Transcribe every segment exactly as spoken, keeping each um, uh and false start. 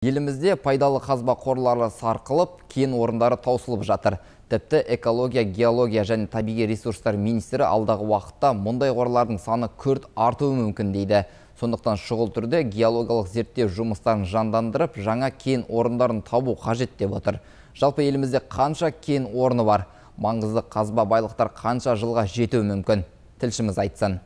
Елімізде пайдалы қазба қорлары сарқылып, кен орындары таусылып жатыр. Тіпті экология, геология және табиғи ресурстар министрі алдағы уақытта мұндай қорлардың саны күрт артуы мүмкін дейді. Сондықтан шұғыл түрде геологиялық зерттеу жұмыстарын жандандырып, жаңа кен орындарын табу қажет деп отыр. Жалпы елімізде қанша кен орны бар? Маңызды қазба байлықтар қанша жылға жетуі мүмкін? Тілшіміз айтсын.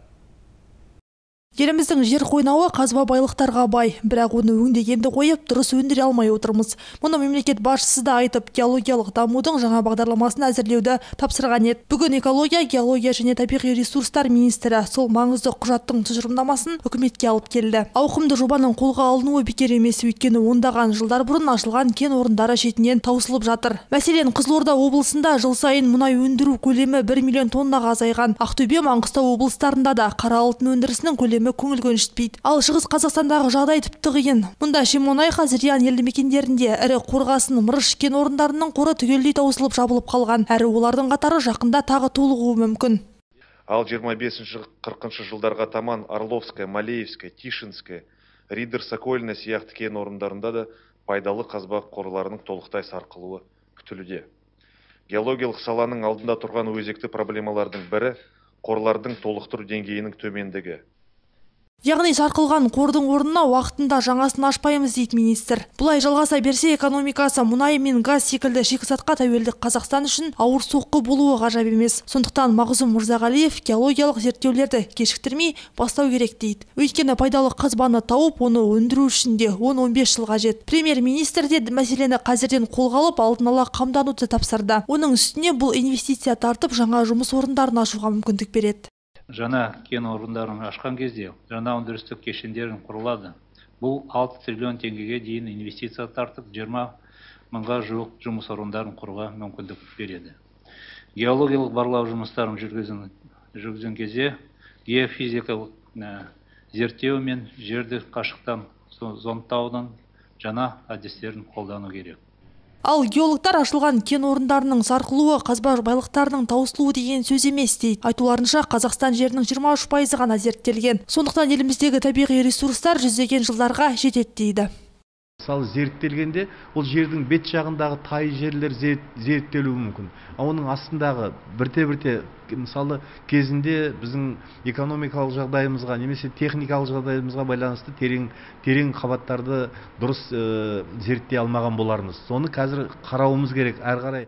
Еліміздің жер қойнауы қазба байлықтарға бай, бірақ оны өңдегенді қойып, дұрыс өндіре алмай отырмыз. Мұны мемлекет басшысы да айтып, геологиялық дамудың жаңа бағдарламасын әзірлеуді тапсырған еді. Бүгін экология, геология және табиғи ресурстар министрі сол маңызды құжаттың тұжырымдамасын үкіметке алып келді. Ауқымды жобаның қолға алынуы бекер емес, өйткені ондаған жылдар бұрын ашылған кен орындары шетінен таусылып жатыр. Мәселен, Қызылорда облысында жыл сайын мұнай өндіру көлемі бір миллион тоннаға азайған. Ақтөбе, Маңғыстау облыстарында да қара алтын өндірісінің көлемі көңіл көншітпейді. Ал Шығыс Қазақстандағы жағдай тіпті қиын. Мұнда Шемонайха, Зырян елді мекендерінде ірі қорғасын, мырыш кен орындарының қоры түгелдей таусылып жабылып қалған. Әрі олардың қатары жақында тағы толығуы мүмкін. Ал жиырма бесінші қырқыншы жылдарға таман Орловская, Малеевская, Тишинская, Ридер, Сокольная сияқты кен орындарында да пайдалы қазба қорларының толықтай сарқылуы күтілуде. Геологиялық саланың алдында тұрған өзекті проблемалардың бірі қорлардың толықтыру деңгейінің төмендігі. Яғни сарқылған қордың орнына уақытында жаңасын ашпаймыз дейді министр. Бұлай жалғаса берсе, экономикасы мұнай мен газ секілді шикізатқа тәуелдік Қазақстан үшін ауыр соққы болуы ғажап емес. Сондықтан Мағзұм Мырзағалиев геологиялық зерттеулерді кешіктірмей бастау керек дейді. Өйткені пайдалы қазбаны тауып, оны өндіру үшін де он он бес жыл қажет. Премьер-министр де мәселені қазірден қолға алып, алдын ала қамдануды тапсырды. Оның үстіне бұл инвестиция тартып, жаңа жұмыс орындарын ашуға мүмкіндік береді. Жаңа кен орындарын ашқан кезде жаңа өндірістік кешендерін құрылады. Бұл алты триллион теңгеге дейін инвестиция тартып, жиырма мыңға жуық жұмыс орындарын құруға мүмкіндік береді. Геологиялық барлау жұмыстарын жүргізген кезде геофизикалық зерттеу мен жерді қашықтан зондтаудың жаңа әдістерін қолдану керек. Ал геологтар ашылған кен орындарының сарқылуы, қазба байлықтарының таусылуы деген сөз емес дейді. Айтуларынша, Қазақстан жерінің жиырма үш пайызы ғана зерттелген. Сондықтан еліміздегі табиғи ресурстар жүздеген жылдарға жетеді дейді. Мысалы, зерттелгенде ол жердің бет жағындағы тай жерлер зерттелуі мүмкін. Оның астындағы бірте-бірте, мысалы, кезінде біздің экономикалық жағдайымызға, немесе техникалық жағдайымызға байланысты терең терең қабаттарды дұрыс зерттей алмаған болармыз. Соны қазір қарауымыз керек әрі қарай.